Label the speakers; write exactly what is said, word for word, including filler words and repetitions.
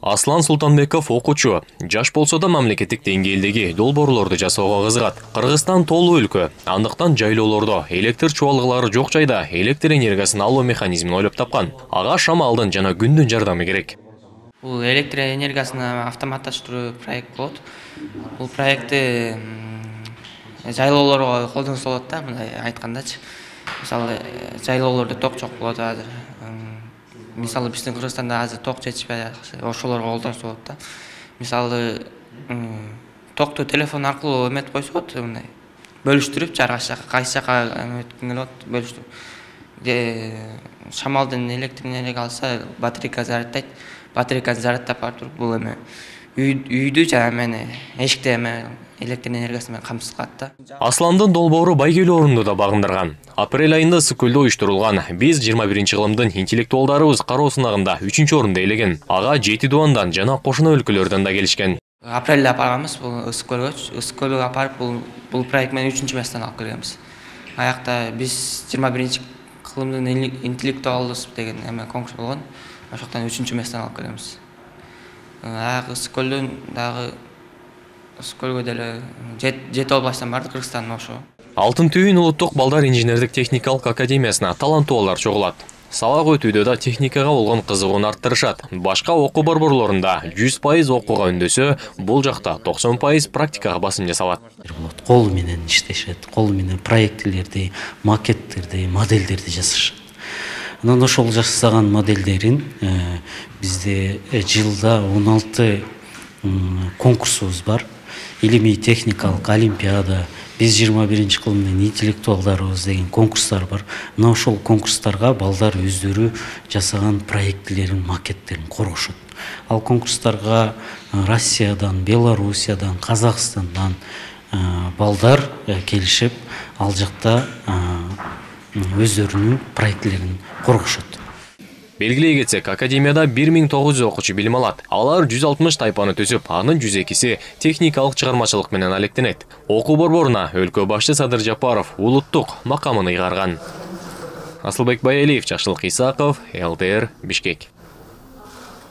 Speaker 1: Аслан Султанбеков окуучу. Жаш болсо да мамлекеттик деңгээлдеги долбоорлорду жасоого кызыгат. Кыргызстан тоолуу өлкө. Андыктан жайлоолордо электр чубалгылары жок жайда электр энергиясын алуу механизмин ойлоп тапкан. Ага шамалдын жана күндүн жардамы керек.
Speaker 2: Бул электр энергиясын автоматташтыруу проект болот. Бул проектти жайлоолорго колдонсо болот да, мындай айткандачы. Мисалы, жайлоолордо ток жок болот азыр. Мисалы, биздин Кыргызстанда азыр ток жетишпей, ошолорго колдонсо болот да. Мисалы, токту телефон аркылуу эметип койсо болот, мындай бөлүштүрүп, жаргаш жака, кайсы жака эметкең келип атат, бөлүштүрүп. Шамалдын электр энергия алса, батарейка заряддайт. Батарейканы заряддап барып туруп, бул эме үйдү жана мени эшикте эме электр энергиясы менен камсыз кылат да.
Speaker 1: Асландын долбоору байгелүү орунду да багындырган. Апрель айында Ысык көлдө уюштурулган биз жыйырма биринчи кылымдын интеллектуалдарыбыз кароо сынагында үчүнчү орунду ээлеген. Ага жети дубандан жана кошуна өлкөлөрдөн да келишкен.
Speaker 2: Апрелде апып алганбыз бул Ысык көлгө. Ысык көлгө апарып бул бул проект менен үчүнчү месттен алып келгенбиз. Аякта биз жыйырма биринчи кылымдын интеллектуалыбыз деген эме конкурс болгон. Ошоктон үчүнчү месттен алып келгенбиз. Аяк Ысык көлдөн дагы Ысык көлгө деле жети областтан барды, Кыргызстандын ошо.
Speaker 1: Алтын түйүн улуттук балдар инженердик техникалык академиясына таланттуулар чогулат. Сабак өтүүдө да техникага болгон кызыгууну арттырышат. Башка окуу борборлорунда жүз пайыз окууга үндөсө, бул жакта токсон пайыз практикага басым жасалат.
Speaker 3: Кол менен иштешет, кол менен проектилерди, макеттерди, модельдерди жасашат. Анан ошол жасаган модельдерин бизде жылда он алты конкурсубуз бар. Илимий техникалык олимпиада, биз жыйырма биринчи кылымдын интеллектуалдарыбыз деген конкурстар бар. Мына ошол конкурстарга балдар өздөрү жасаган проектилерин, макеттерин коргошот. Ал конкурстарга Россиядан, Белоруссиядан, Казакстандан балдар келишип, ал жакта өздөрүнүн проектилерин коргошот.
Speaker 1: Белгилей кетсек, академияда бир миң тогуз жүз окуучу билим алат. Алар жүз алтымыш тайпаны төзүп, анын жүз экиси техникалык чыгармачылык менен алектенет. Окуу борборуна өлкө башчы Садыр Жапаров улуттук макамын ыйгарган. Асылбек Баялиев, Жакшылык Исаков, эл тэ эр, Бишкек.